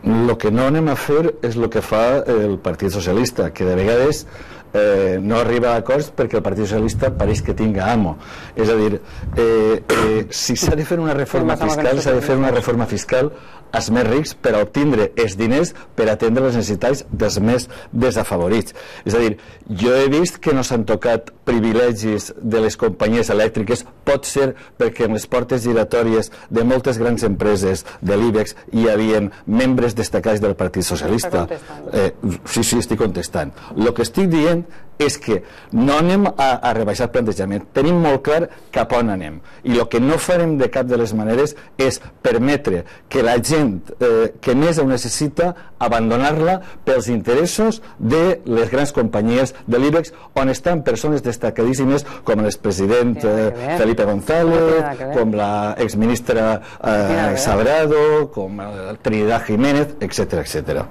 El que no anem a fer és el que fa el Partit Socialista, que de vegades no arriba a acords perquè el Partit Socialista pareix que tinga amo. És a dir, si s'ha de fer una reforma fiscal, s'ha de fer una reforma fiscal als més rics per a obtindre els diners per atendre les necessitats dels més desafavorits. És a dir, jo he vist que no s'han tocat privilegis de les companyies elèctriques, pot ser perquè en les portes giratòries de moltes grans empreses de l'IBEX hi havia membres destacats del Partit Socialista. Sí, estic contestant. El que estic dient és que no anem a rebaixar el plantejament, tenim molt clar cap on anem, i el que no farem de cap de les maneres és permetre que la gent que més ho necessita abandonar-la pels interessos de les grans companyies de l'IBEX, on estan persones destacadíssimes com l'expresident Felipe González, com l'exministra Sabrado, com Trinidad Jiménez, etcètera.